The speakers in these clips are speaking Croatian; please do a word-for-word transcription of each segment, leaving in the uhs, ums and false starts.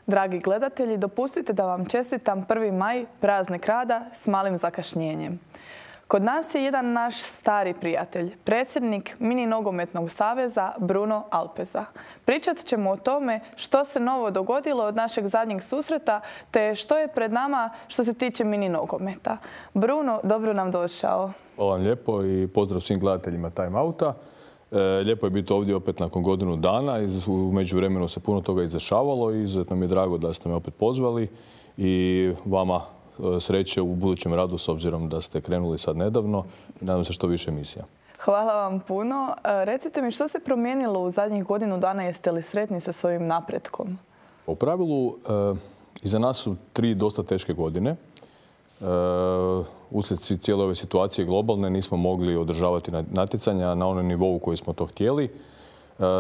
Dragi gledatelji, dopustite da vam čestitam prvi maj, praznik rada s malim zakašnjenjem. Kod nas je jedan naš stari prijatelj, predsjednik Mini nogometnog saveza Bruno Alpeza. Pričat ćemo o tome što se novo dogodilo od našeg zadnjeg susreta, te što je pred nama što se tiče mini nogometa. Bruno, dobro nam došao. Hvala vam lijepo i pozdrav svim gledateljima Time Outa. E, lijepo je biti ovdje opet nakon godinu dana. U međuvremenu se puno toga izdešavalo i izuzetno mi je drago da ste me opet pozvali i vama sreće u budućem radu s obzirom da ste krenuli sad nedavno i nadam se što više emisija. Hvala vam puno. Recite mi što se promijenilo u zadnjih godinu dana, jeste li sretni sa svojim napretkom? U pravilu, iza nas su tri dosta teške godine. Uslijed cijele ove situacije globalne nismo mogli održavati natjecanja na onom nivou koji smo to htjeli.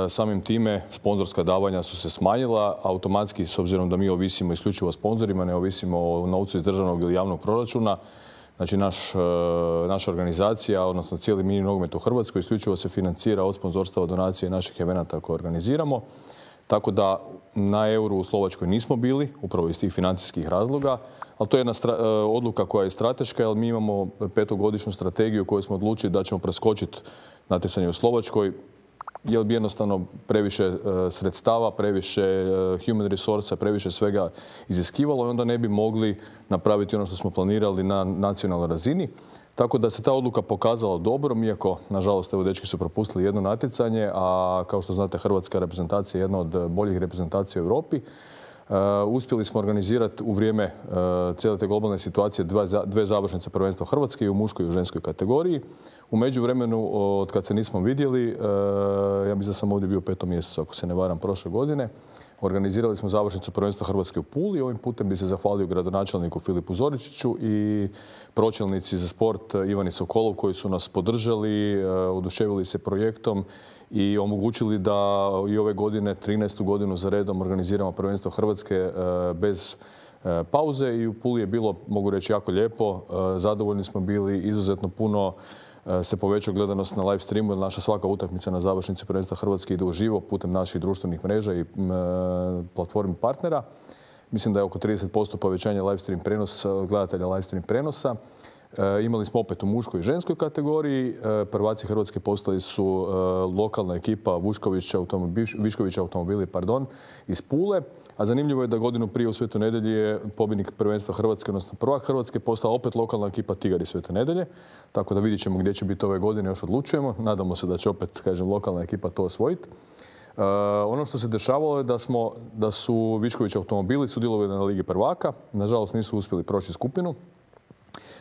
Samim time sponzorska davanja su se smanjila automatski, s obzirom da mi ovisimo isključivo o sponzorima, ne ovisimo o novcu iz državnog ili javnog proračuna. Znači naš, naša organizacija, odnosno cijeli mini nogomet u Hrvatskoj, isključivo se financira od sponzorstava, donacije naših evenata koje organiziramo. Tako da na euru u Slovačkoj nismo bili, upravo iz tih financijskih razloga, ali to je jedna odluka koja je strateška, jer mi imamo petogodišnju strategiju koju smo odlučili da ćemo preskočiti natjecanje u Slovačkoj, jer bi jednostavno previše sredstava, previše human resursa, previše svega iziskivalo i onda ne bi mogli napraviti ono što smo planirali na nacionalnoj razini. Tako da se ta odluka pokazala dobrom, iako, nažalost, evo, dečki su propustili jedno natjecanje, a kao što znate, hrvatska reprezentacija je jedna od boljih reprezentacija u Europi. Uh, uspjeli smo organizirati u vrijeme uh, cijele te globalne situacije dva, dve završnice prvenstva Hrvatske i u muškoj i u ženskoj kategoriji. U međuvremenu, od kad se nismo vidjeli, uh, ja mislim da sam ovdje bio u petom mjesecu, ako se ne varam, prošle godine, organizirali smo završnicu prvenstva Hrvatske u Puli. Ovim putem bi se zahvalio gradonačelniku Filipu Zoričiću i pročelnici za sport Ivani Sokolov koji su nas podržali, uh, oduševili se projektom i omogućili da i ove godine, trinaestu godinu za redom, organiziramo prvenstvo Hrvatske bez pauze i u Puli je bilo, mogu reći, jako lijepo. Zadovoljni smo bili, izuzetno puno se povećao gledanost na live streamu, jer naša svaka utakmica na završnici prvenstva Hrvatske ide uživo putem naših društvenih mreža i platformi partnera. Mislim da je oko trideset posto povećanja live stream prenosa, gledatelja live stream prenosa. E, imali smo opet u muškoj i ženskoj kategoriji. E, prvaci Hrvatske postali su e, lokalna ekipa Vuškovića automobil, Viškovića automobili pardon, iz Pule. A zanimljivo je da godinu prije u Svetoj Nedjelji je pobjednik prvenstva Hrvatske, odnosno prvak Hrvatske, postala opet lokalna ekipa Tigar iz Svete Nedjelje. Tako da vidjet ćemo gdje će biti ove godine, još odlučujemo. Nadamo se da će opet, kažem, lokalna ekipa to osvojiti. Uh, ono što se dešavalo je da, smo, da su Višković automobili sudjelovali na Ligi prvaka. Nažalost nisu uspjeli proći skupinu.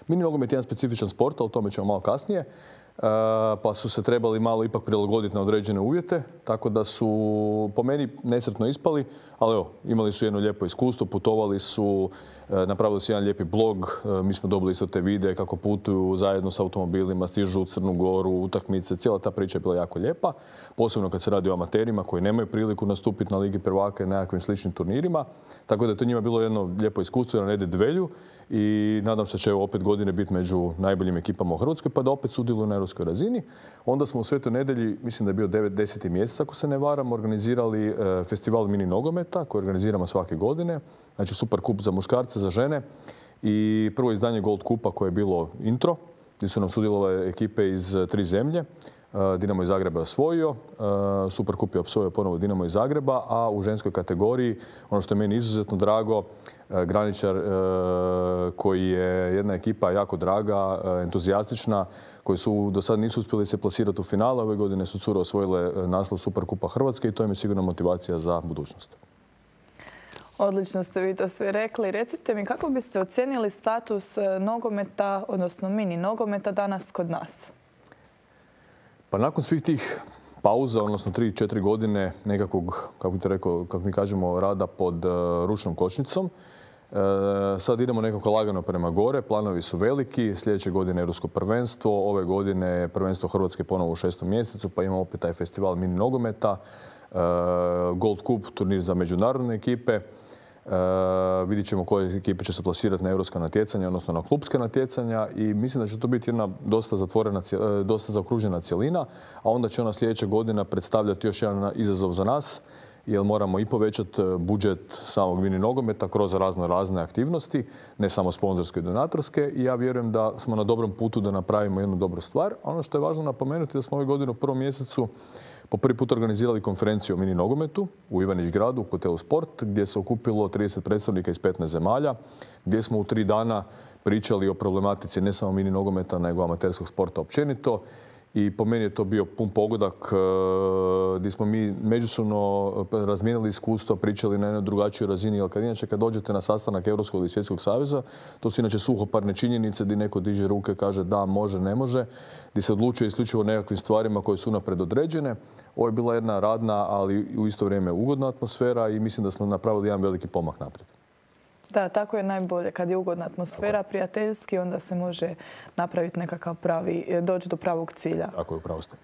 Mini nogomet je jedan specifičan sport, o tome ćemo malo kasnije, uh, pa su se trebali malo ipak prilagoditi na određene uvjete, tako da su po meni nesretno ispali, ali evo, imali su jedno lijepo iskustvo, putovali su, napravili su jedan lijepi blog, mi smo dobili isto te videe kako putuju zajedno s automobilima, stižu u Crnu Goru, utakmice, cijela ta priča je bila jako lijepa, posebno kad se radi o amaterima koji nemaju priliku nastupiti na Ligi prvaka i nekakvim sličnim turnirima, tako da je to njima bilo jedno lijepo iskustvo na Nede Dvelju i nadam se da će opet godine biti među najboljim ekipama u Hrvatskoj pa da opet sudjeluju na europskoj razini. Onda smo u Svetoj Nedjelji, mislim da je bio devet deseti mjesec ako se ne varam, organizirali festival mini nogometa koji organiziramo svake godine. Znači Super kup za muškarce, za žene i prvo izdanje Gold kupa koje je bilo intro, gdje su nam sudjelovale ekipe iz tri zemlje. Dinamo iz Zagreba je osvojio, Super kup je osvojio ponovo Dinamo iz Zagreba, a u ženskoj kategoriji, ono što je meni izuzetno drago, Graničar koji je jedna ekipa jako draga, entuzijastična, koji su do sad nisu uspjeli se plasirati u finale. Ove godine su cure osvojile naslov Super kupa Hrvatske i to im je sigurno motivacija za budućnost. Odlično ste vi to sve rekli. Recite mi, kako biste ocijenili status nogometa, odnosno mini nogometa danas kod nas? Pa nakon svih tih pauza, odnosno tri četiri godine nekakvog, kako bi te rekao, kako mi kažemo, rada pod uh, ručnom kočnicom, uh, sad idemo nekako lagano prema gore, planovi su veliki, sljedeće godine Europsko prvenstvo, ove godine prvenstvo Hrvatske ponovo u šestom mjesecu, pa imamo opet taj festival mini nogometa, uh, Gold Cup, turnir za međunarodne ekipe. Uh, vidjet ćemo koje ekipe će se plasirati na europska natjecanja, odnosno na klupska natjecanja i mislim da će to biti jedna dosta zatvorena, dosta zaokružena cjelina, a onda će ona sljedeća godina predstavljati još jedan izazov za nas, jer moramo i povećati budžet samog mini nogometa kroz razno razne aktivnosti, ne samo sponzorske i donatorske. I ja vjerujem da smo na dobrom putu da napravimo jednu dobru stvar. Ono što je važno napomenuti da smo ove godine u prvom mjesecu po prvi put organizirali konferenciju o mini nogometu u Ivanić gradu, u hotelu Sport, gdje se okupilo trideset predstavnika iz petnaest zemalja, gdje smo u tri dana pričali o problematici ne samo mini nogometa, nego amaterskog sporta općenito. I po meni je to bio pun pogodak gdje smo mi međusobno razmijenili iskustva, pričali na jednoj drugačijoj razini. Jer kad inače kad dođete na sastanak Europskog ili Svjetskog saveza, to su inače suhoparne činjenice gdje neko diže ruke, kaže da, može, ne može, gdje se odlučuje isključivo o nekakvim stvarima koje su unaprijed određene. Ovo je bila jedna radna, ali u isto vrijeme ugodna atmosfera i mislim da smo napravili jedan veliki pomak naprijed. Da, tako je najbolje. Kad je ugodna atmosfera, prijateljski, onda se može napraviti nekakav pravi, doći do pravog cilja. Tako je, upravo ste.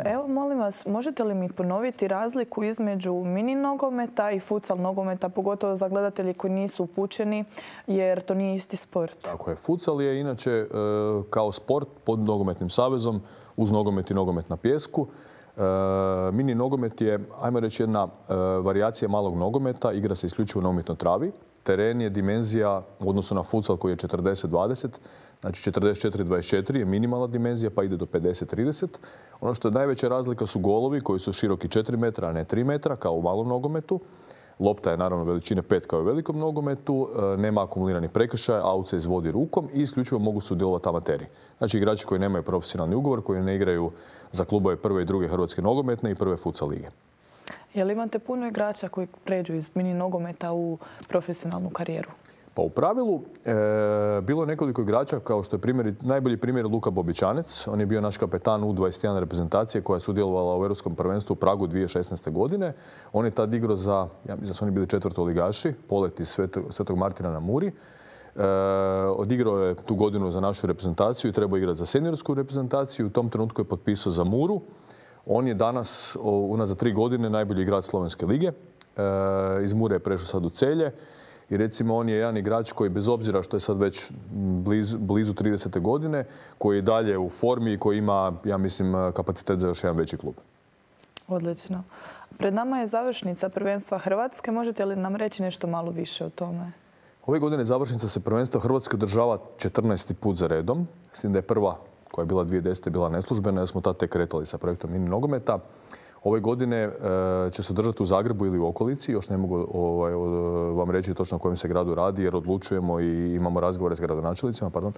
Evo, molim vas, možete li mi ponoviti razliku između mini nogometa i futsal nogometa, pogotovo za gledatelji koji nisu upućeni, jer to nije isti sport? Tako je. Futsal je inače kao sport pod nogometnim savezom, uz nogomet i nogomet na pijesku. Mini nogomet je, ajmo reći, jedna varijacija malog nogometa, igra se isključivo na umjetnoj travi. Teren je dimenzija u odnosu na futsal koji je četrdeset dvadeset, znači četrdeset četiri dvadeset četiri je minimalna dimenzija pa ide do pedeset trideset. Ono što je najveća razlika su golovi koji su široki četiri metra, a ne tri metra kao u malom nogometu. Lopta je naravno veličine pet kao u velikom nogometu, nema akumuliranih prekršaja, aut se izvodi rukom i isključivo mogu sudjelovati amateri. Znači igrači koji nemaju profesionalni ugovor, koji ne igraju za klubove prve i druge hrvatske nogometne i prve futsal lige. Je li imate puno igrača koji pređu iz mini nogometa u profesionalnu karijeru? Pa u pravilu e, bilo je nekoliko igrača, kao što je primjer, najbolji primjer Luka Bobičanec. On je bio naš kapetan U dvadeset jedan reprezentacije koja je sudjelovala u Europskom prvenstvu u Pragu dvije tisuće šesnaeste. godine. On je tad igrao za, ja mislim da su oni bili četvrtoligaši, Polet iz Svetog, Svetog Martina na Muri. E, odigrao je tu godinu za našu reprezentaciju i trebao igrati za seniorsku reprezentaciju. U tom trenutku je potpisao za Muru. On je danas, unazad tri godine, najbolji igrač Slovenske lige. E, iz Mure je prešao sad u Celje. I recimo on je jedan igrač koji bez obzira što je sad već blizu, blizu tridesete godine, koji je dalje u formi i koji ima, ja mislim, kapacitet za još jedan veći klub. Odlično. Pred nama je završnica prvenstva Hrvatske. Možete li nam reći nešto malo više o tome? Ove godine završnica se prvenstva Hrvatske održava četrnaesti put za redom. S tim da je prva, koja je bila dvije tisuće desete. bila neslužbena, jer smo tad tek kretali sa projektom mini nogometa. Ove godine e, će se održati u Zagrebu ili u okolici. Još ne mogu ovaj, vam reći točno o kojem se gradu radi, jer odlučujemo i imamo razgovore s gradonačelnicima. Pardon.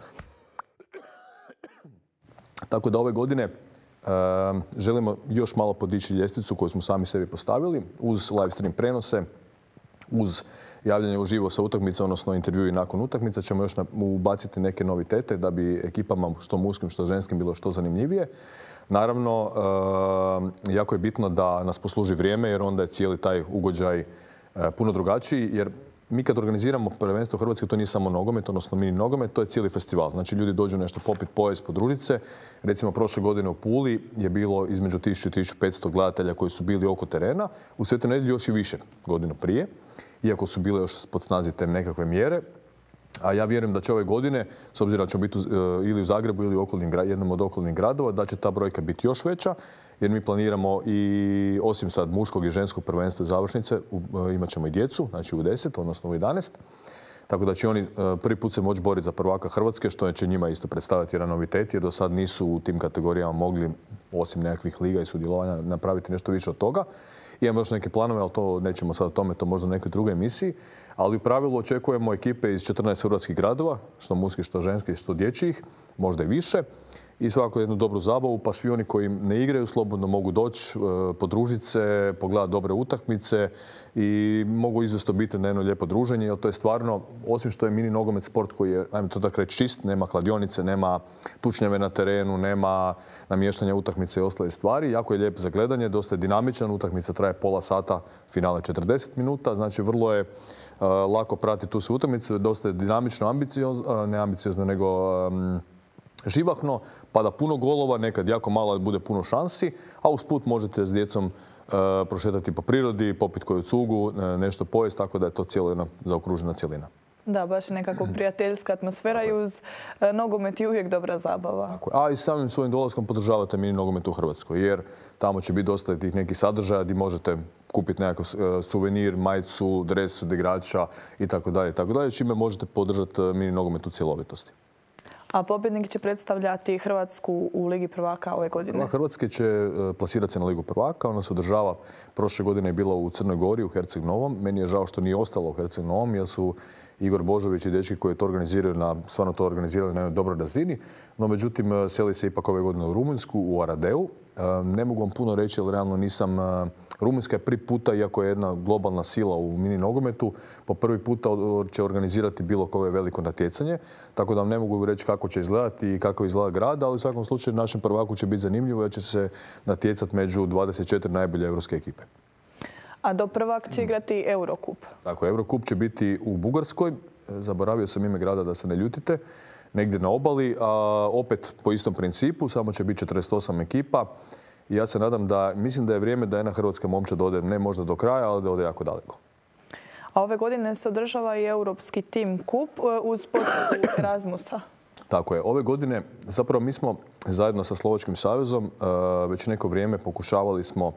Tako da ove godine e, želimo još malo podići ljestvicu koju smo sami sebi postavili, uz live stream prenose, uz javljanje uživo sa utakmica, odnosno intervju i nakon utakmica, ćemo još ubaciti neke novitete da bi ekipama što muškim, što ženskim bilo što zanimljivije. Naravno, jako je bitno da nas posluži vrijeme, jer onda je cijeli taj ugođaj puno drugačiji, jer mi kad organiziramo prvenstvo Hrvatske, to nije samo nogomet, odnosno mini nogomet, to je cijeli festival. Znači ljudi dođu nešto popit, pojest, podružiti se. Recimo prošle godine u Puli je bilo između tisuću i tisuću petsto gledatelja koji su bili oko terena. U Svetoj Nedjelji još i više godinu prije, iako su bile još pod snazi te nekakve mjere. A ja vjerujem da će ove godine, s obzirom da ćemo biti ili u Zagrebu ili u okolnim, jednom od okolnih gradova, da će ta brojka biti još veća, jer mi planiramo i osim sad muškog i ženskog prvenstva i završnice, imat ćemo i djecu, znači u deset, odnosno u jedanaest. Tako da će oni prvi put se moći boriti za prvaka Hrvatske, što će njima isto predstaviti jedan novitet, jer do sad nisu u tim kategorijama mogli, osim nekakvih liga i sudjelovanja, napraviti nešto više od toga. Imamo još neke planove, ali to nećemo sad o tome, to možda u nekoj drugoj emisiji. Ali u pravilu očekujemo ekipe iz četrnaest hrvatskih gradova, što muških, što ženskih, što dječjih, možda i više. I svakako jednu dobru zabavu, pa svi oni koji ne igraju slobodno mogu doći, podružiti se, pogledati dobre utakmice i mogu izvesti obitelj na jedno lijepo druženje, jer to je stvarno, osim što je mini nogomet sport koji je, ajmo to tako reći, čist, nema kladionice, nema tučnjave na terenu, nema namještanja utakmice i ostale stvari. Jako je lijep za gledanje, dosta je dinamičan, utakmica traje pola sata, finale četrdeset minuta, znači vrlo je uh, lako pratiti tu sve utakmicu, dosta je dinamično, ambiciozno, uh, ne ambiciozno, nego um, živahno, pada puno golova, nekad jako malo bude puno šansi, a usput možete s djecom uh, prošetati po prirodi, popiti koju cugu, uh, nešto pojesti, tako da je to cijelo jedna zaokružena cjelina. Da, baš je nekako prijateljska atmosfera i uz nogomet je uvijek dobra zabava. A i samim svojim dolaskom podržavate mini nogomet u Hrvatskoj, jer tamo će biti dosta tih nekih sadržaja gdje možete kupiti nekakav suvenir, majicu, dres od igrača i tako dalje, tako dalje, čime možete podržati mini nogomet u cjelovitosti. A pobjednik će predstavljati Hrvatsku u Ligi prvaka ove godine? Hrvatske će plasirati se na Ligu prvaka. Ona se održava, prošle godine je bila u Crnoj Gori, u Herceg Novom. Meni je žao što nije ostalo u Herceg Novom, jer su Igor Božović i dečki koji to organiziraju, na, stvarno to organizirali na jednoj dobroj razini. No, međutim, seli se ipak ove godine u Rumunjsku, u Aradeu. Ne mogu vam puno reći, jer realno nisam... Rumunjska je prvi puta, iako je jedna globalna sila u mini nogometu, po prvi puta će organizirati bilo koje veliko natjecanje. Tako da vam ne mogu reći kako će izgledati i kako izgleda grad, ali u svakom slučaju našem prvaku će biti zanimljivo jer će se natjecati među dvadeset četiri najbolje europske ekipe. A do prvak će igrati Eurocup. Tako, Eurocup će biti u Bugarskoj. Zaboravio sam ime grada, da se ne ljutite. Negdje na obali, a opet po istom principu, samo će biti četrdeset osam ekipa. I ja se nadam da, mislim da je vrijeme da jedna hrvatska momčad ode, ne možda do kraja, ali da ode jako daleko. A ove godine se održava i Europski Team Cup uz potporu Erasmusa. Tako je. Ove godine, zapravo mi smo zajedno sa Slovačkim savezom već neko vrijeme pokušavali smo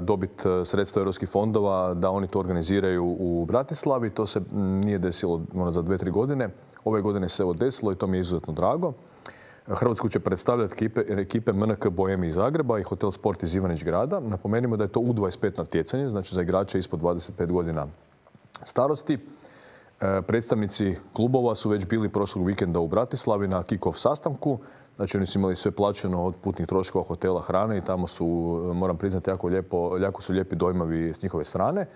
dobiti sredstva europskih fondova da oni to organiziraju u Bratislavi. To se nije desilo za dve, tri godine. Ove godine se evo desilo i to mi je izuzetno drago. Hrvatsku će predstavljati ekipe, ekipe M N K Bohemi iz Zagreba i Hotel Sport iz Ivanić Grada. Napomenimo da je to U dvadeset pet natjecanje, znači za igrače ispod dvadeset pet godina starosti. E, predstavnici klubova su već bili prošlog vikenda u Bratislavi na kick-off sastanku. Znači oni su imali sve plaćeno od putnih troškova, hotela, hrane i tamo su, moram priznati, jako, lijepo, jako su lijepi dojmovi s njihove strane.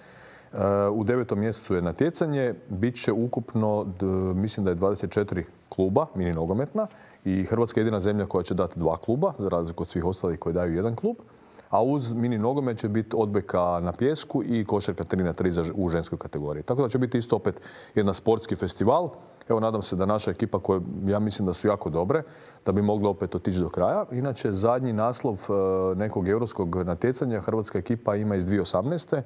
U devetom mjesecu je natjecanje. Biće ukupno, mislim da je dvadeset četiri kluba, mini nogometna, i Hrvatska je jedina zemlja koja će dati dva kluba, za razliku od svih ostalih koji daju jedan klub. A uz mini nogomet će biti odbojka na pijesku i košarka tri na tri u ženskoj kategoriji. Tako da će biti isto opet jedan sportski festival. Evo, nadam se da naša ekipa, koje ja mislim da su jako dobre, da bi mogla opet otići do kraja. Inače, zadnji naslov nekog europskog natjecanja hrvatska ekipa ima iz dvije tisuće osamnaeste.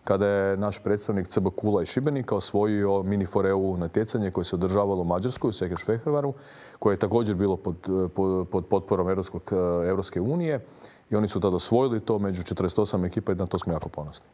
kada je naš predstavnik C B Kula iz Šibenika osvojio mini for E U natjecanje koje se održavalo u Mađarskoj, u Sekešfehervaru, koje je također bilo pod, pod, pod potporom Europskog, Europske unije. I oni su tada osvojili to među četrdeset osam ekipa i na to smo jako ponosni.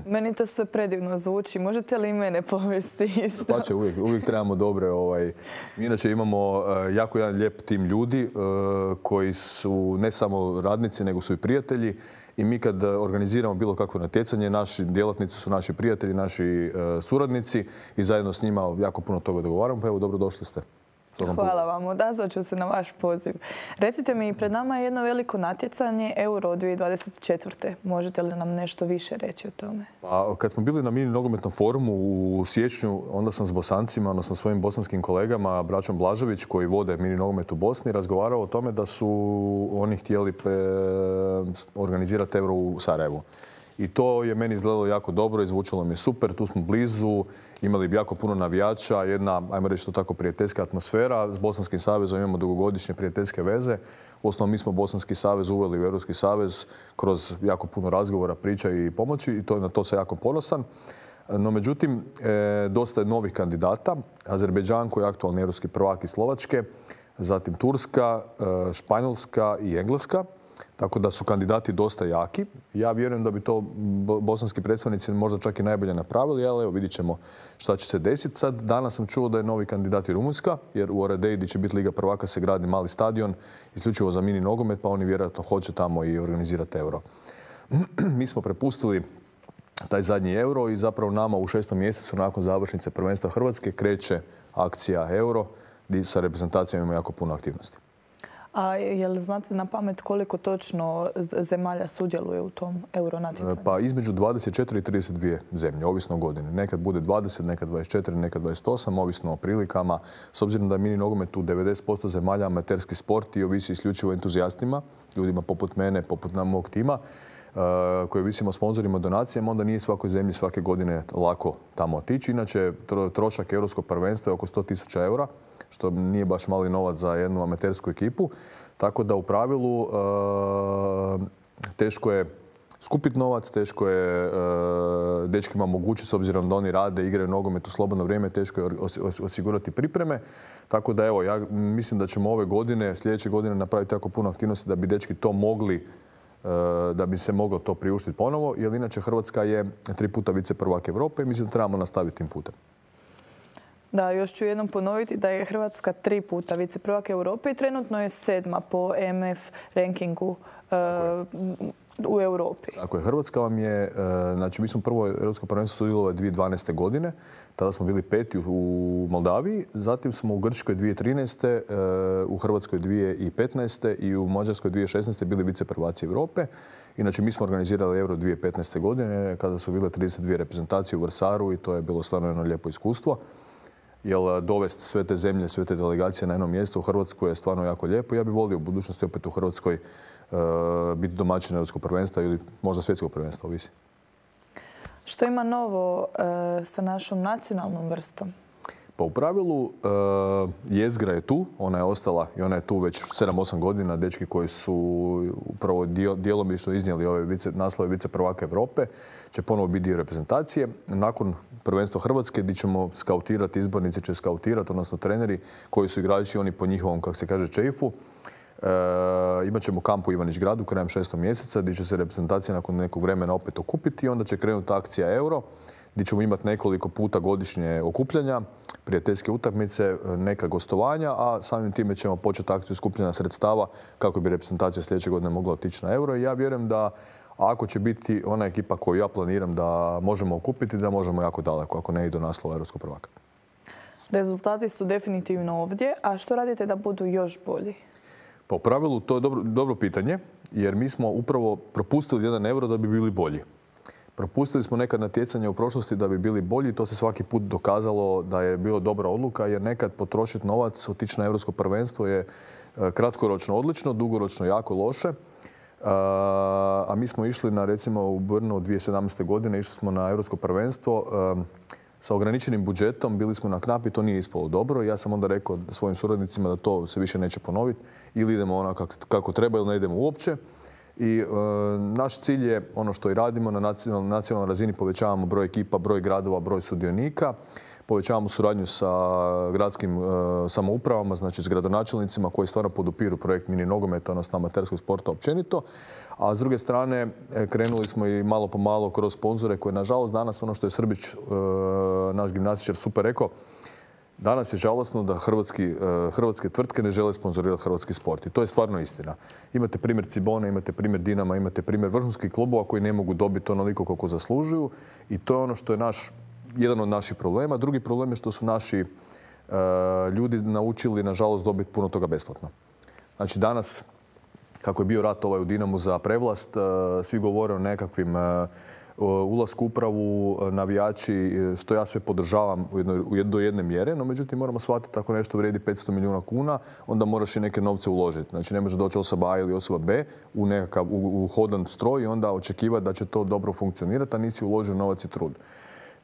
Meni to sve predivno zvuči. Možete li i mene povesti isto? Pa će, uvijek, uvijek trebamo dobre. Ovaj. Mi inače imamo uh, jako jedan lijep tim ljudi uh, koji su ne samo radnici, nego su i prijatelji. I mi kad organiziramo bilo kakvo natjecanje, naši djelatnici su naši prijatelji, naši uh, suradnici i zajedno s njima jako puno toga dogovaramo. Pa evo, dobro došli ste. Hvala vam, odazvat ću se na vaš poziv. Recite mi, pred nama je jedno veliko natjecanje Euro dvije tisuće dvadeset četvrte. Možete li nam nešto više reći o tome? Pa, kad smo bili na mini nogometnom forumu u siječnju, onda sam s Bosancima, odnosno svojim bosanskim kolegama, braćom Blažević, koji vode mini nogomet u Bosni, razgovarao o tome da su oni htjeli pre... organizirati Euro u Sarajevu. I to je meni izgledalo jako dobro, izvučalo mi je super, tu smo blizu, imali bi jako puno navijača, jedna, ajmo reći to tako, prijateljska atmosfera. S Bosanskim savezom imamo dugogodišnje prijateljske veze. Uostalom, mi smo Bosanski savez uveli u Europski savez kroz jako puno razgovora, priča i pomoći i to, na to sam jako ponosan. No, međutim, e, dosta je novih kandidata. Azerbejdžan koji je aktualni europski prvak iz Slovačke, zatim Turska, e, Španjolska i Engleska. Tako da su kandidati dosta jaki. Ja vjerujem da bi to bosanski predstavnici možda čak i najbolje napravili, ali evo vidit ćemo šta će se desiti. Sad, danas sam čuo da je novi kandidat i Rumunjska, jer u Aradeji gdje će biti Liga prvaka se gradi mali stadion, isključivo za mini nogomet, pa oni vjerojatno hoće tamo i organizirati Euro. Mi smo prepustili taj zadnji Euro i zapravo nama u šestom mjesecu nakon završnice prvenstva Hrvatske kreće akcija Euro, gdje sa reprezentacijom ima jako puno aktivnosti. A je li znate na pamet koliko točno zemalja sudjeluje u tom euro natjecanju? Pa između dvadeset četiri i trideset dvije zemlje, ovisno o godini. Nekad bude dvadeset, nekad dvadeset četiri, nekad dvadeset osam, ovisno o prilikama. S obzirom da je mini nogomet u devedeset posto zemalja amaterski sport i ovisi isključivo o entuzijastima, ljudima poput mene, poput nam mog tima, koji visimo sponzorima, donacijama, onda nije svakoj zemlji svake godine lako tamo otići. Inače, trošak europskog prvenstva je oko sto tisuća eura, što nije baš mali novac za jednu amatersku ekipu. Tako da u pravilu teško je skupiti novac, teško je uh, dečkima omogućiti, s obzirom da oni rade, igraju nogomet u slobodno vrijeme, teško je osigurati pripreme. Tako da evo, ja mislim da ćemo ove godine, sljedeće godine napraviti jako puno aktivnosti da bi dečki to mogli, uh, da bi se moglo to priuštiti ponovo, jer inače Hrvatska je tri puta viceprvak Europe i mislim da trebamo nastaviti tim putem. Da, još ću jednom ponoviti da je Hrvatska tri puta viceprvak Europe i trenutno je sedma po M F rankingu uh, u Europi. Tako je. Hrvatska vam je, uh, znači mi smo prvo Europsko prvenstvo sudjelovali dvije tisuće dvanaeste. godine, tada smo bili peti u Moldaviji, zatim smo u Grčkoj dvije tisuće trinaeste. Uh, u Hrvatskoj dvije tisuće petnaeste. i u Mađarskoj dvije tisuće šesnaeste. bili viceprvaci Europe. Inače, mi smo organizirali Euro dvije tisuće petnaeste. godine kada su bile trideset dvije reprezentacije u Vrsaru i to je bilo stvarno jedno lijepo iskustvo. Jer dovesti sve te zemlje, sve te delegacije na jedno mjesto u Hrvatsku je stvarno jako lijepo. Ja bih volio u budućnosti opet u Hrvatskoj uh, biti domaćin Europskog prvenstva ili možda svjetskog prvenstva, ovisi. Što ima novo uh, sa našom nacionalnom vrstom? Pa u pravilu uh, jezgra je tu, ona je ostala i ona je tu već sedam osam godina. Dečki koji su upravo djelomično iznijeli ove vice, naslove viceprvaka Europe će ponovo biti dio reprezentacije. Nakon prvenstva Hrvatske gdje ćemo skautirati, izbornici će skautirati, odnosno treneri koji su igrači, oni po njihovom, kako se kaže, čeifu. E, imat ćemo kamp u Ivanić Gradu krajem šestog mjeseca gdje će se reprezentacija nakon nekog vremena opet okupiti i onda će krenuti akcija Euro gdje ćemo imati nekoliko puta godišnje okupljanja, prijateljske utakmice, neka gostovanja, a samim time ćemo početi akciju skupljanja sredstava kako bi reprezentacija sljedeće godine mogla otići na Euro. I ja vjerujem da ako će biti ona ekipa koju ja planiram da možemo okupiti, da možemo jako daleko, ako ne i do naslova europskog prvaka. Rezultati su definitivno ovdje, a što radite da budu još bolji? Pa u pravilu to je dobro, dobro pitanje, jer mi smo upravo propustili jedan Euro da bi bili bolji. Propustili smo nekad natjecanja u prošlosti da bi bili bolji i to se svaki put dokazalo da je bilo dobra odluka, jer nekad potrošiti novac, otići na europsko prvenstvo je kratkoročno odlično, dugoročno jako loše. A mi smo išli na, recimo, u Brnu dvije tisuće sedamnaeste. godine, išli smo na europsko prvenstvo sa ograničenim budžetom, bili smo na knap i to nije ispalo dobro. Ja sam onda rekao svojim suradnicima da to se više neće ponoviti, ili idemo ono kako, kako treba ili ne idemo uopće. I e, naš cilj je ono što i radimo na nacionalnoj, nacionalnoj razini, povećavamo broj ekipa, broj gradova, broj sudionika, povećavamo suradnju sa gradskim e, samoupravama, znači s gradonačelnicima koji stvarno podupiru projekt mini nogometa, odnosno amaterskog sporta općenito. A s druge strane krenuli smo i malo po malo kroz sponzore koje, nažalost, danas ono što je Srbić, e, naš gimnastičar, super rekao, danas je žalosno da hrvatski, hrvatske tvrtke ne žele sponzorirati hrvatski sport. I to je stvarno istina. Imate primjer Cibone, imate primjer Dinama, imate primjer vrhunskih klubova koji ne mogu dobiti onoliko koliko zaslužuju. I to je ono što je naš, jedan od naših problema. Drugi problem je što su naši uh, ljudi naučili, nažalost, dobiti puno toga besplatno. Znači danas, kako je bio rat ovaj u Dinamu za prevlast, uh, svi govore o nekakvim uh, ulasku u upravu, navijači, što ja sve podržavam do jedne mjere, no međutim moramo shvatiti ako nešto vrijedi petsto milijuna kuna, onda moraš i neke novce uložiti. Znači ne može doći osoba A ili osoba B u nekakav u, u hodan stroj i onda očekivati da će to dobro funkcionirati, a nisi uložio novac i trud.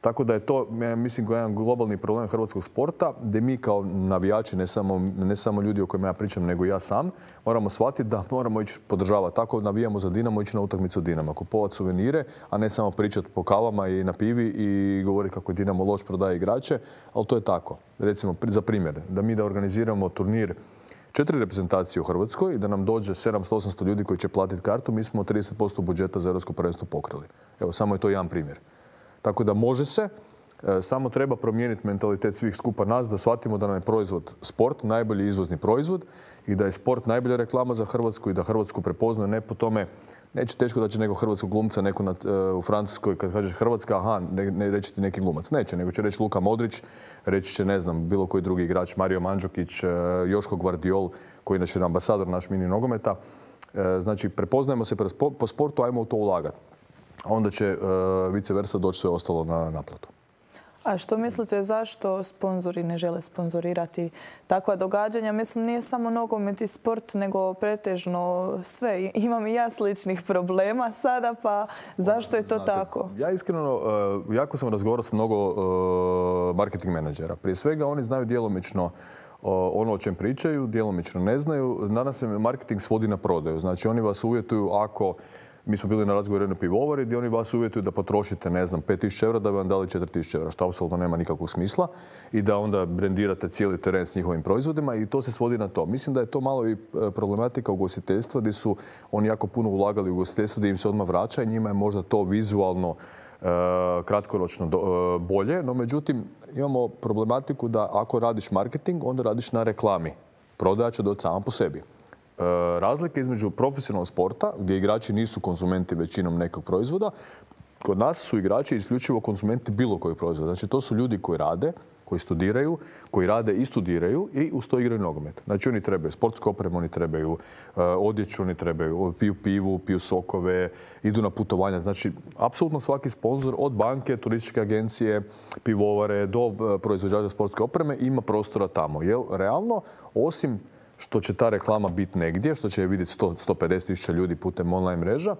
Tako da je to, ja mislim, jedan globalni problem hrvatskog sporta, gdje mi kao navijači, ne samo, ne samo ljudi o kojima ja pričam, nego ja sam, moramo shvatiti da moramo ići podržavati. Tako navijamo za Dinamo, ići na utakmicu Dinama, kupovati suvenire, a ne samo pričati po kavama i na pivi i govoriti kako je Dinamo loš, prodaje igrače, ali to je tako. Recimo, za primjer, da mi da organiziramo turnir četiri reprezentacije u Hrvatskoj i da nam dođe sedamsto osamsto ljudi koji će platiti kartu, mi smo trideset posto budžeta za europsko prvenstvo pokrili. Evo, samo je to jedan primjer. Tako da može se, samo treba promijeniti mentalitet svih skupa nas, da shvatimo da nam je proizvod sport, najbolji izvozni proizvod i da je sport najbolja reklama za Hrvatsku i da Hrvatsku prepoznaje ne po tome, neće teško da će nekog hrvatskog glumca neko na, u Francuskoj kad kažeš Hrvatska, aha, ne, ne reći ti neki glumac. Neće, nego će reći Luka Modrić, reći će, ne znam, bilo koji drugi igrač, Mario Mandžukić, Joško Gvardiol, koji je inače ambasador naš mini nogometa. Znači, prepoznajemo se po sportu, ajmo u to ulagati. A onda će uh, vice versa doći sve ostalo na naplatu. A što mislite zašto sponzori ne žele sponzorirati takva događanja? Mislim, nije samo nogomet i sport, nego pretežno sve. Imam i ja sličnih problema sada, pa zašto je to Znate, tako? Ja iskreno, uh, jako sam razgovarao s mnogo uh, marketing menadžera. Prije svega oni znaju djelomično uh, ono o čem pričaju, djelomično ne znaju. Danas se marketing svodi na prodaju. Znači oni vas uvjetuju ako mi smo bili na razgovoru jednoj pivovari gdje oni vas uvjetuju da potrošite, ne znam, pet tisuća eura da bi vam dali četiri tisuće eura, što apsolutno nema nikakvog smisla i da onda brendirate cijeli teren s njihovim proizvodima i to se svodi na to. Mislim da je to malo i problematika ugostiteljstva gdje su oni jako puno ulagali u ugostiteljstvo gdje im se odmah vraća i njima je možda to vizualno kratkoročno bolje, no međutim imamo problematiku da ako radiš marketing, onda radiš na reklami. Prodaja će doći sama po sebi. Razlika između profesionalnog sporta, gdje igrači nisu konzumenti većinom nekog proizvoda, kod nas su igrači isključivo konzumenti bilo kojeg proizvoda. Znači to su ljudi koji rade, koji studiraju, koji rade i studiraju i uz to igraju nogomet. Znači oni trebaju sportsku opremu, oni trebaju uh, odjeću, oni trebaju, piju pivu, piju sokove, idu na putovanja. Znači, apsolutno svaki sponzor od banke, turističke agencije, pivovare do uh, proizvođača sportske opreme ima prostora tamo. Jer realno, osim što će ta reklama biti negdje, što će je vidjeti sto do sto pedeset tisuća ljudi putem online mreža,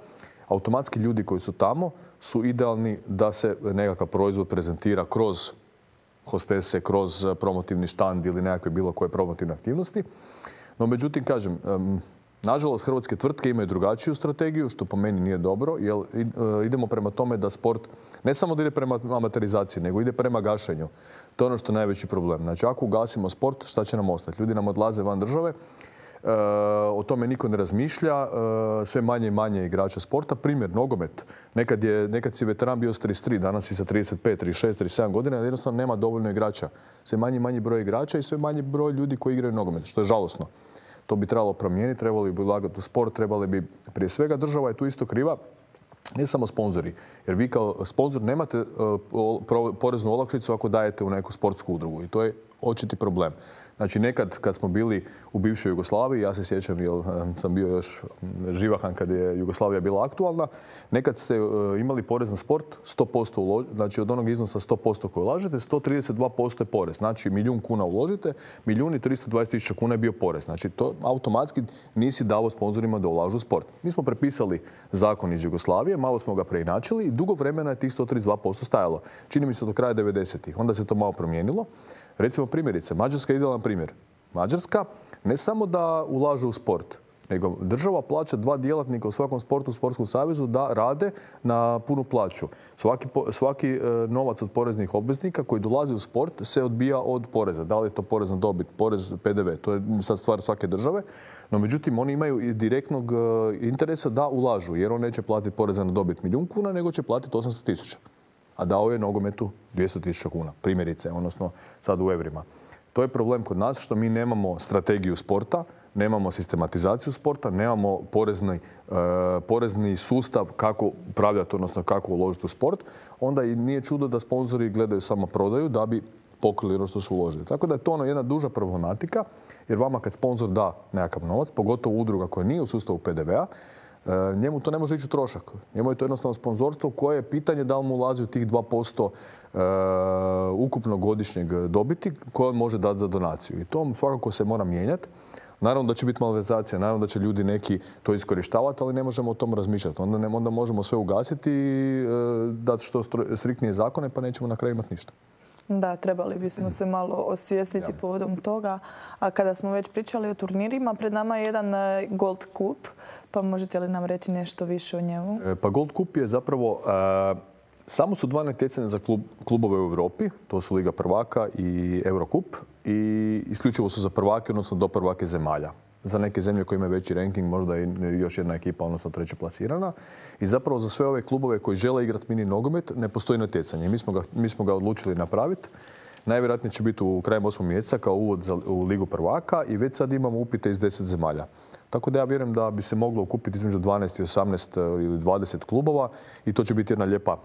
automatski ljudi koji su tamo su idealni da se nekakav proizvod prezentira kroz hostese, kroz promotivni štand ili nekakve bilo koje promotivne aktivnosti. No, međutim, kažem, nažalost, hrvatske tvrtke imaju drugačiju strategiju, što po meni nije dobro, jer idemo prema tome da sport ne samo da ide prema amaterizaciji, nego ide prema gašenju. To je ono što je najveći problem. Znači, ako ugasimo sport, šta će nam ostati? Ljudi nam odlaze van države, o tome niko ne razmišlja, sve manje i manje igrača sporta. Primjer, nogomet. Nekad, je, nekad si veteran bio s trideset tri, danas si sa trideset pet, trideset šest, trideset sedam godina, jednostavno nema dovoljno igrača. Sve manji i manji broj igrača i sve manji broj ljudi koji igraju nogomet, što je žalosno. To bi trebalo promijeniti, trebali bi ulagati u sport, trebali bi, prije svega država je tu isto kriva, ne samo sponzori. Jer vi kao sponzor nemate poreznu olakšicu ako dajete u neku sportsku udrugu i to je očiti problem. Znači, nekad kad smo bili u bivšoj Jugoslaviji, ja se sjećam jer sam bio još živahan kad je Jugoslavija bila aktualna, nekad ste imali porez na sport sto posto uložite, znači od onog iznosa sto posto koji ulažete, sto trideset dva posto je porez. Znači, milijun kuna uložite, milijun i tristo dvadeset tisuća kuna je bio porez. Znači, to automatski nisi davo sponzorima da ulažu u sport. Mi smo prepisali zakon iz Jugoslavije, malo smo ga preinačili i dugo vremena je tih sto trideset dva posto stajalo. Čini mi se do kraja devedesetih. Onda se to malo promijenilo. Recimo primjerice, Mađarska je idealan primjer. Mađarska ne samo da ulaže u sport, nego država plaća dva djelatnika u svakom sportu, u sportskom savezu da rade na punu plaću. Svaki, svaki novac od poreznih obveznika koji dolazi u sport se odbija od poreza. Da li je to porez na dobit, porez P D V, to je sad stvar svake države. No međutim, oni imaju i direktnog interesa da ulažu, jer on neće platiti poreza na dobit milijun kuna, nego će platiti osamsto tisuća. A dao je nogometu dvjesto tisuća kuna, primjerice, odnosno sad u evrima. To je problem kod nas što mi nemamo strategiju sporta, nemamo sistematizaciju sporta, nemamo porezni, e, porezni sustav kako upravljati, odnosno kako uložiti u sport. Onda i nije čudo da sponzori gledaju samo prodaju da bi pokrili ono što su uložili. Tako da je to ono jedna duža problematika, jer vama kad sponzor da nekakav novac, pogotovo udruga koja nije u sustavu P D V-a, njemu to ne može ići u trošak. Njemu je to jednostavno sponzorstvo koje je pitanje da li mu ulazi u tih dva posto e, ukupnog godišnjeg dobiti koje on može dati za donaciju. I to svakako se mora mijenjati. Naravno da će biti malverzacija, naravno da će ljudi neki to iskorištavati, ali ne možemo o tom razmišljati. Onda, ne, onda možemo sve ugasiti i e, dati što striktnije zakone, pa nećemo na kraju imati ništa. Da, trebali bismo se malo osvijestiti povodom toga. A kada smo već pričali o turnirima, pred nama je jedan Gold Cup. Pa možete li nam reći nešto više o njemu? Pa Gold Cup je zapravo... A, samo su dva natjecanja za klub, klubove u Europi. To su Liga prvaka i Eurocup. I isključivo su za prvake, odnosno do prvake zemalja. Za neke zemlje koje imaju veći ranking, možda i još jedna ekipa, odnosno treće plasirana. I zapravo za sve ove klubove koji žele igrati mini nogomet ne postoji natjecanje. Mi smo ga, mi smo ga odlučili napraviti. Najvjerojatnije će biti u krajem osmog mjeseca kao uvod za, u Ligu prvaka i već sad imamo upite iz deset zemalja. Tako da ja vjerujem da bi se moglo okupiti između dvanaest i osamnaest ili dvadeset klubova i to će biti jedna lijepa,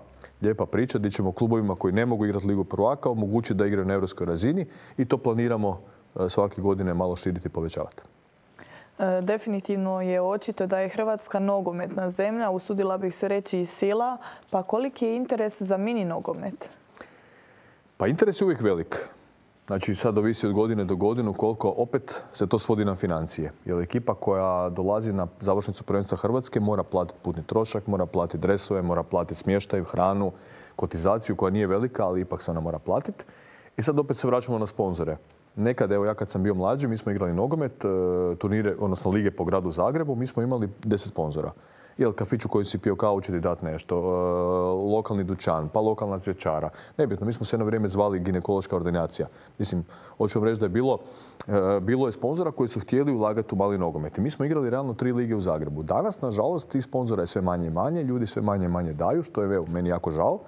lijepa priča gdje ćemo klubovima koji ne mogu igrati Ligu prvaka omogućiti da igraju na europskoj razini i to planiramo svake godine malo širiti i povećavati. Definitivno je očito da je Hrvatska nogometna zemlja, usudila bih se reći i sila. Pa koliki je interes za mini nogomet? Pa interes je uvijek velik. Znači sad ovisi od godine do godinu koliko opet se to svodi na financije. Jer ekipa koja dolazi na završnicu prvenstva Hrvatske mora platiti putni trošak, mora platiti dresove, mora platiti smještaj, hranu, kotizaciju koja nije velika, ali ipak se ona mora platiti. I sad opet se vraćamo na sponzore. Nekad, evo ja kad sam bio mlađi, mi smo igrali nogomet, turnire, odnosno lige po gradu Zagrebu, mi smo imali deset sponzora. Jel, kafić u koji si pio kavu će ti dati nešto, e, lokalni dućan, pa lokalna cvjećara. Nebitno, mi smo se jedno vrijeme zvali ginekološka ordinacija. Mislim, hoću vam reći da je bilo, e, bilo je sponzora koji su htjeli ulagati u mali nogomet. I mi smo igrali realno tri lige u Zagrebu. Danas, nažalost, tih sponzora je sve manje i manje, ljudi sve manje i manje daju, što je evo, meni jako žao.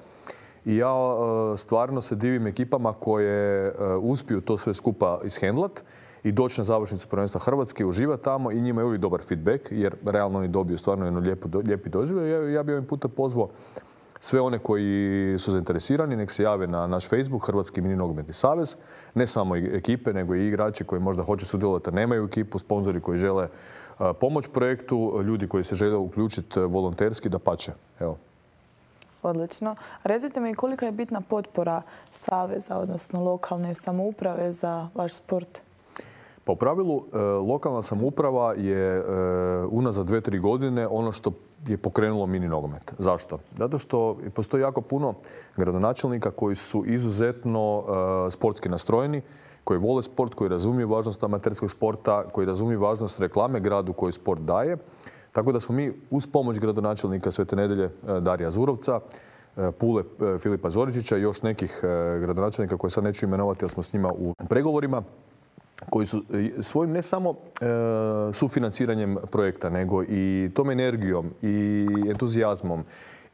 I ja e, stvarno se divim ekipama koje e, uspiju to sve skupa ishendlat i doći na završnicu prvenstva Hrvatske, uživati tamo i njima je uvijek dobar feedback, jer realno oni dobiju stvarno jedno lijepo, lijepi doživljaj. Ja, ja bih ovim putem pozvao sve one koji su zainteresirani, nek se jave na naš Facebook, Hrvatski mini nogometni savez. Ne samo ekipe, nego i igrači koji možda hoće sudjelovati, a nemaju ekipu, sponzori koji žele pomoć projektu, ljudi koji se žele uključiti volonterski, dapače. Evo. Odlično. Recite mi kolika je bitna potpora saveza, odnosno lokalne samouprave za vaš sport? Pa u pravilu, lokalna samouprava je unazad dve, tri godine ono što je pokrenulo mini nogomet. Zašto? Zato što postoji jako puno gradonačelnika koji su izuzetno sportski nastrojeni, koji vole sport, koji razumiju važnost amaterskog sporta, koji razumiju važnost reklame gradu koji sport daje. Tako da smo mi uz pomoć gradonačelnika Svete Nedelje Darija Zurovca, Pule Filipa Zoričića i još nekih gradonačelnika koje sad neću imenovati jer smo s njima u pregovorima, koji su svojim ne samo e, sufinanciranjem projekta, nego i tom energijom i entuzijazmom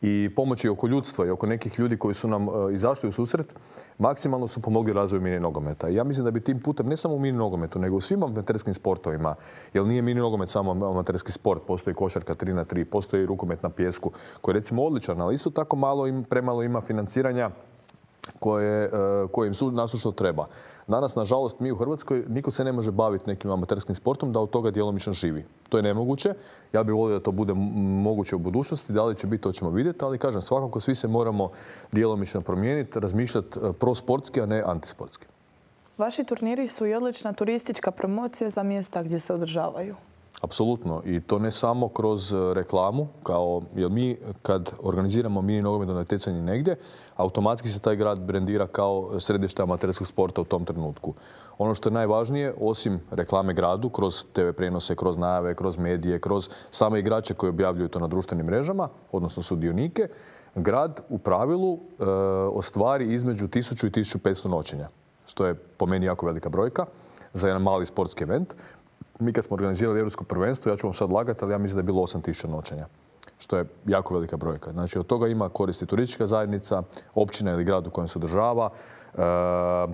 i pomoći oko ljudstva i oko nekih ljudi koji su nam e, izašli u susret, maksimalno su pomogli razvoju mini nogometa. I ja mislim da bi tim putem, ne samo u mini nogometu, nego u svim amaterskim sportovima, jer nije mini nogomet samo amaterski sport, postoji košarka tri na tri, postoji rukomet na pijesku, koji je recimo odličan, ali isto tako malo im, premalo ima financiranja koje, koje im su nasušno treba. Danas, nažalost, mi u Hrvatskoj niko se ne može baviti nekim amaterskim sportom da od toga djelomično živi. To je nemoguće. Ja bih volio da to bude moguće u budućnosti. Da li će biti, to ćemo vidjeti, ali kažem, svakako svi se moramo djelomično promijeniti, razmišljati prosportski, a ne antisportski. Vaši turniri su i odlična turistička promocija za mjesta gdje se održavaju. Apsolutno. I to ne samo kroz reklamu, kao, jer mi kad organiziramo mini nogometno natjecanje negdje, automatski se taj grad brendira kao središte amaterskog sporta u tom trenutku. Ono što je najvažnije, osim reklame gradu, kroz te ve prenose, kroz najave, kroz medije, kroz same igrače koji objavljuju to na društvenim mrežama, odnosno sudionike, grad u pravilu e, ostvari između tisuću i tisuću petsto noćenja, što je po meni jako velika brojka za jedan mali sportski event. Mi kad smo organizirali Europsko prvenstvo, ja ću vam sad lagati, ali ja mislim da je bilo osam tisuća noćenja, što je jako velika brojka. Znači, od toga ima koristi turistička zajednica, općina ili grad u kojem se održava, e,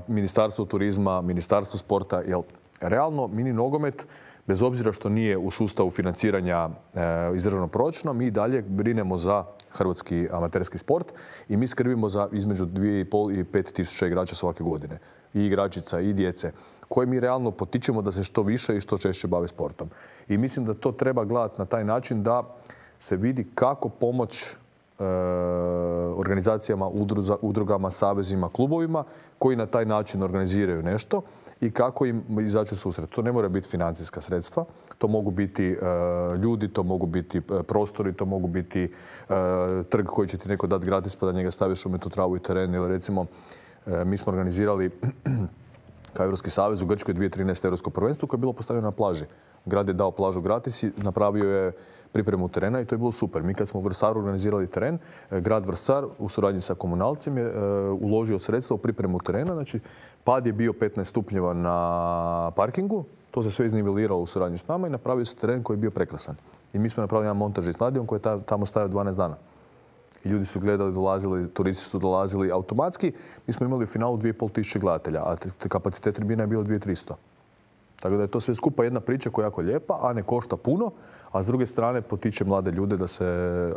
Ministarstvo turizma, Ministarstvo sporta, jer realno mini nogomet, bez obzira što nije u sustavu financiranja e, iz državnog proračuna, mi dalje brinemo za hrvatski amaterski sport i mi skrbimo za između dvije i pol i pet tisuća igrača svake godine. I igračica i djece, koje mi realno potičemo da se što više i što češće bave sportom. I mislim da to treba gledati na taj način da se vidi kako pomoć e, organizacijama, udruza, udrugama, savezima, klubovima koji na taj način organiziraju nešto i kako im izaći u susret. To ne mora biti financijska sredstva, to mogu biti e, ljudi, to mogu biti prostori, to mogu biti e, trg koji će ti neko dati gratis pa da njega staviš u metu travu i teren. Ili recimo, e, mi smo organizirali kao Europski savez u Grčkoj dvije tisuće trinaeste. Europsko prvenstvo koje je bilo postavljeno na plaži. Grad je dao plažu gratis i napravio je pripremu terena i to je bilo super. Mi kad smo u Vrsaru organizirali teren, grad Vrsar u suradnji sa komunalcem je uložio sredstva u pripremu terena. Znači, pad je bio petnaest stupnjeva na parkingu, to se sve izniveliralo u suradnji s nama i napravio se teren koji je bio prekrasan. I mi smo napravili jedan montažni stadion koji je tamo stajao dvanaest dana. I ljudi su gledali, dolazili, turisti su dolazili automatski. Mi smo imali u finalu dvije i pol tisuće gledatelja, a kapacitet tribina je bilo dvije tisuće tristo. Tako da je to sve skupa jedna priča koja je jako lijepa, a ne košta puno, a s druge strane potiče mlade ljude da se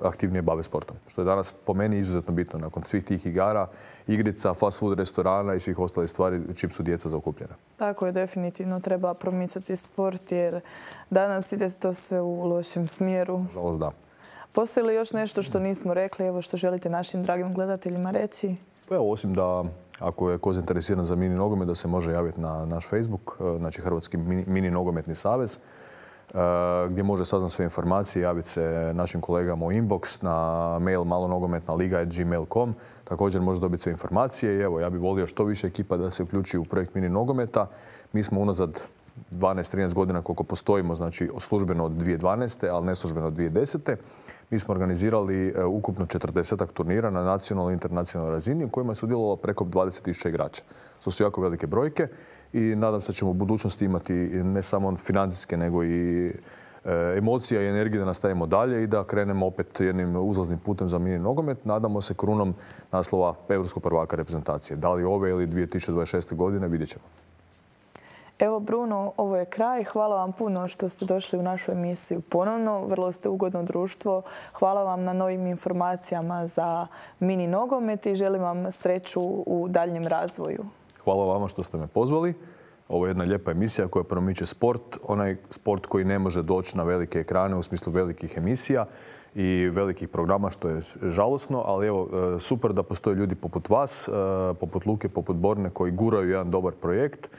aktivnije bave sportom. Što je danas po meni izuzetno bitno nakon svih tih igara, igrica, fast food restorana i svih ostalih stvari čim su djeca zaokupljena. Tako je, definitivno treba promicati sport jer danas ide to sve u lošem smjeru. Žalost da. Postoji li još nešto što nismo rekli, evo što želite našim dragim gledateljima reći? Pa evo, osim da ako je ko zainteresiran za mini nogomet, da se može javiti na naš Facebook, znači Hrvatski mini, mini nogometni savez, gdje može saznati sve informacije, javiti se našim kolegama u inbox, na mail malonogometna liga at gmail dot com. Također može dobiti sve informacije i evo, ja bih volio što više ekipa da se uključi u projekt mini nogometa. Mi smo unazad dvanaest trinaest godina koliko postojimo, znači službeno od dvije tisuće dvanaeste. ali neslužbeno od dvije tisuće desete. Mi smo organizirali ukupno četrdesetak turnira na nacionalnoj i internacionalnoj razini u kojima je sudjelovalo preko dvadeset tisuća igrača. To su jako velike brojke i nadam se da ćemo u budućnosti imati ne samo financijske nego i emocija i energije da nastavimo dalje i da krenemo opet jednim uzlaznim putem za mini nogomet. Nadamo se krunom naslova europskog prvaka reprezentacije. Da li ove ili dvije tisuće dvadeset šeste. godine, vidjet ćemo. Evo Bruno, ovo je kraj. Hvala vam puno što ste došli u našu emisiju ponovno. Vrlo ste ugodno društvo. Hvala vam na novim informacijama za mini nogomet i želim vam sreću u daljnjem razvoju. Hvala vama što ste me pozvali. Ovo je jedna lijepa emisija koja promiče sport. Onaj sport koji ne može doći na velike ekrane u smislu velikih emisija i velikih programa, što je žalosno, ali evo, super da postoje ljudi poput vas, poput Luke, poput Borne, koji guraju jedan dobar projekt.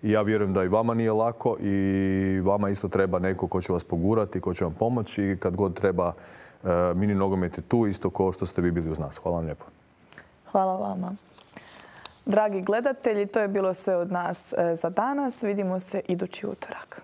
I ja vjerujem da i vama nije lako i vama isto treba neko ko će vas pogurati, ko će vam pomoći i kad god treba mini nogomet je tu, isto kao što ste vi bili uz nas. Hvala vam lijepo. Hvala vama. Dragi gledatelji, to je bilo sve od nas za danas. Vidimo se idući utorak.